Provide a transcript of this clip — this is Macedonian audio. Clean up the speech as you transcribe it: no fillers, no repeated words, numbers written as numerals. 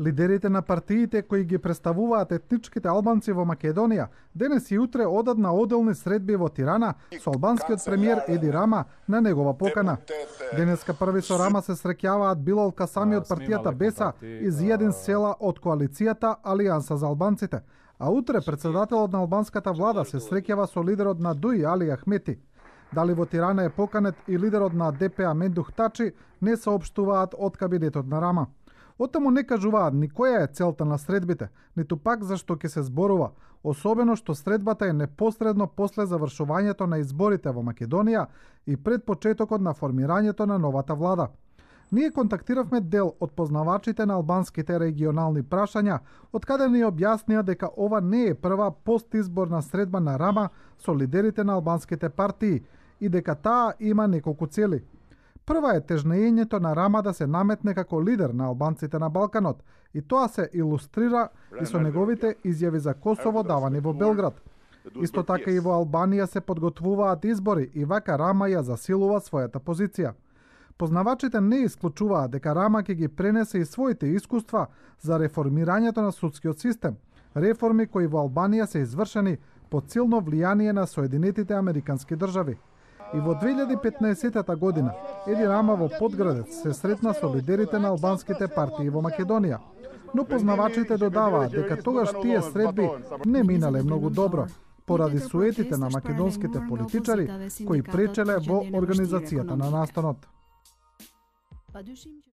Лидерите на партиите кои ги представуваат етничките албанци во Македонија денес и утре одат на оделни средби во Тирана со албанскиот премиер Еди Рама на негова покана. Денеска први со Рама се среќаваат Билал Касами од партијата Беса и Зијадин Села од коалицијата Алијанса за албанците, а утре председателот на албанската влада се среќава со лидерот на ДУИ Али Ахмети. Дали во Тирана е поканет и лидерот на ДПА Мендух Тачи не соопштуваат од кабинетот на Рама. Оттаму не кажуваат ни која е целта на средбите, ниту пак зашто ќе се зборува, особено што средбата е непосредно после завршувањето на изборите во Македонија и пред почетокот на формирањето на новата влада. Ние контактиравме дел од познавачите на албанските регионални прашања, од каде ни објаснија дека ова не е прва постизборна средба на Рама со лидерите на албанските партии и дека таа има неколку цели. Прва е тежнењето на Рама да се наметне како лидер на албанците на Балканот и тоа се илустрира и со неговите изјави за Косово давани во Белград. Исто така и во Албанија се подготвуваат избори и вака Рама ја засилува својата позиција. Познавачите не исклучуваат дека Рама ќе ги пренесе и своите искуства за реформирањето на судскиот систем, реформи кои во Албанија се извршени под силно влијание на Соединетите Американски држави. И во 2015 година Еди Рама во Подградец се сретна со лидерите на албанските партии во Македонија, но познавачите додаваат дека тогаш тие средби не минале многу добро, поради суетите на македонските политичари кои пречеле во организацијата на настанот.